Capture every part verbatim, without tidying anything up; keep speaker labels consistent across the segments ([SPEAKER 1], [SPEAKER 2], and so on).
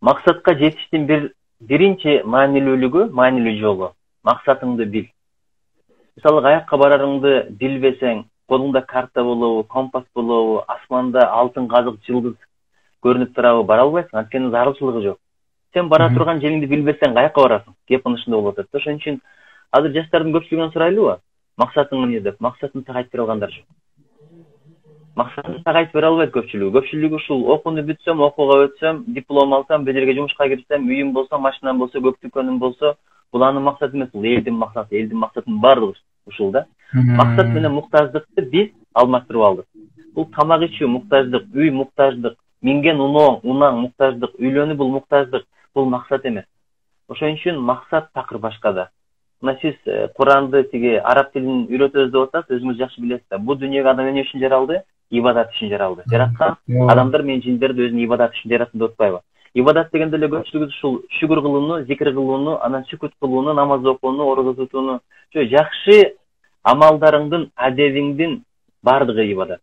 [SPEAKER 1] Максатка жетиштин бир биринчи маанилүүлүгү, маанилүү жолу максатыңды бил. Мисалы, каякка барарыңды билбесең, колуңда карта болобу, компас болобу, асманда алтын казык жылдыз көрүнүп турабы, бара албайсың, анткени зарылчылыгы жок. Сен бара турган жериңди билбесең, каякка барасың? Кеп ушундай болуп атат. Ошон үчүн азыр жаштардын көпчүлүгүнөн сурайлыбы? Максатың эмне деп? Максатын так айтып бере алгандар жок. Максатын так айтып бере албайт көпчүлүгү. Көпчүлүгү ушул окууну бүтсөм, окууга өтсөм, диплом алсам, бир жерге жумушка кирсем, үйүм болсо, машинам болсо, көк дүкөнүм болсо, бул анын максаты эмес, бул элдин максаты. Элдин максатынын баардыгы ушул да. Максат менен муктаждыкты биз алмаштырып алдык. Бул тамак ичүү муктаждык, үй муктаждык, минген уноо, унаң муктаждык, үйлөнүү бул муктаждык, бул максат эмес. Ошон үчүн максат такыр башкада. Мына сиз Куранды тиги араб тилин үйрөтөбүз деп атасыз, өзүңүз жакшы билесиз да. Бул дүйнөгө адам эмне үчүн жаралды? Ибадат үчүн жаралды. Жараткан адамдар менен жиндерди өзүнүн ибадаты үчүн жараттым деп атпайбы? Ибадат дегенде эле көпчүлүгү ушул шүгүр кылууну, зикир кылууну, анан сүкүт кылууну, намаз окууну, орозо тутууну, жакшы амалдарыңдын, адебиңдин баардыгы ибадат.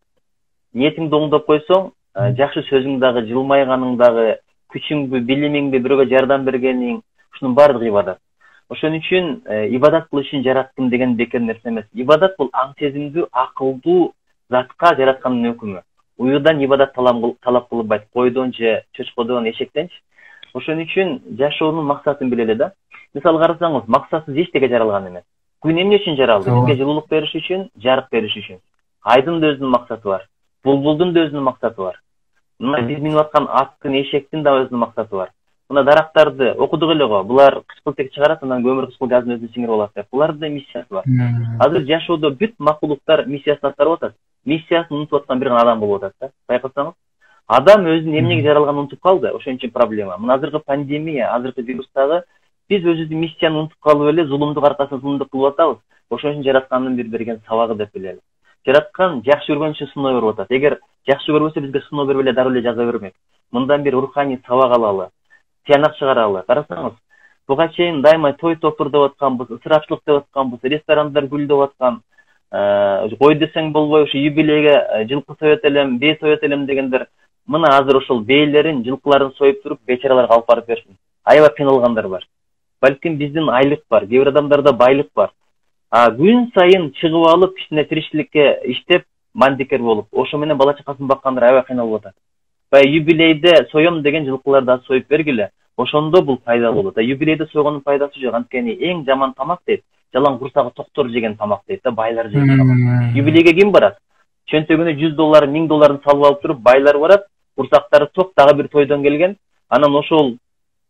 [SPEAKER 1] Ниетиңди оңдоп койсоң, жакшы сөзүң дагы, жылмайганың дагы, күчүңдү, билимиңди бирөөгө жардам бергениң, ушунун баардыгы ибадат. Ошон үчүн ибадат кылыш үчүн жараттым деген бекер нерсе эмес. Ибадат бул аң сезимдүү, акылдуу затка жараткандын өкүмү. Уюудан ибадат талап кылынбайт, койдон же чочкодон, эшектенчи. Ошон үчүн жашоонун максатын билели да. Мисалы карасаңыз, максатсыз эчтеке жаралган эмес. Күн эмне үчүн жаралды? Бизге жылуулук бериш үчүн, жарык бериш үчүн. Айдын да өзүнүн максаты бар. Булбулдун да өзүнүн максаты бар. Мына биз минип аткан аттын, эшектин да өзүнүн максаты бар. Мына дарактарды окудук эле го. Булар кычкылтек чыгарат, анан көмүр кычкыл газын өзүнө сиңирип алат деп. Булардын да миссиясы бар. Азыр жашоодо бүт макулуктар миссиясын аткарып атат. Миссиясын унутуп аткан бир гана адам болуп атат да. Байкасаңыз, адам өзүнүн эмнеге жаралганын унутуп калды. Ошон үчүн проблема. Мына азыркы пандемия, азыркы вирустагы биз өзүбүздүн миссияны унутуп калып эле зулумдук аркасында зулумдук кылып атабыз. Ошон үчүн жараткандын бир берген сабагы деп билели. Жараткан жакшы көргөн үчүн сыноо берип атат. Эгер жакшы көрбөсө, бизге сыноо берип эле дароо эле жаза бермек. Мындан бир руханий сабак алалы, тыянак чыгаралы. Карасаңыз, буга чейин дайыма той топур деп атканбыз, ысырапчылык деп атканбыз, ресторандар гүлдөп аткан, кой десең болбой ушу юбилейге жылкы соет элем, бээ соет элем дегендер, мына азыр ошол бээлерин, жылкыларын союп туруп, бечараларга алып барып берсин. Аябай кыйналгандар бар. Балким биздин айлык бар, кээ бир адамдарда байлык бар. А күн сайын чыгып алып, кичине тиричиликке иштеп, мандикер болуп, ошо менен бала чакасын баккандар аябай кыйналып атат. Баягы юбилейде соем деген жылкыларды союп бергиле. Ошондо бул пайдалуу болот. Юбилейде сойгондун пайдасы жок. Анткени эң жаман тамак дейт, жалаң курсагы токтор жеген тамак дейт да, байлар жеген тамак. Юбилейге ким барат? Чөнтөгүнө жүз доллар, миң долларын салып алып туруп, байлар барат, курсактары ток, дагы бир тойдон келген, анан ошол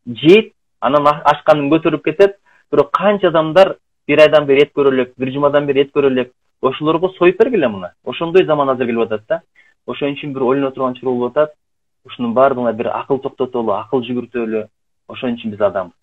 [SPEAKER 1] жейт, анан ашканын көтөрүп кетет. Бирок канча адамдар бир айдан бери эт көрө элек, бир жумадан бери эт көрө элек, ошолорго союп бергиле мына. Ошондой заман азыр келип атат да. Ошон үчүн бир ойлоно турган чор болуп атат. Ушунун баардыгына бир акыл токтотолу, акыл жүгүртөлү. Ошон үчүн биз адамбыз.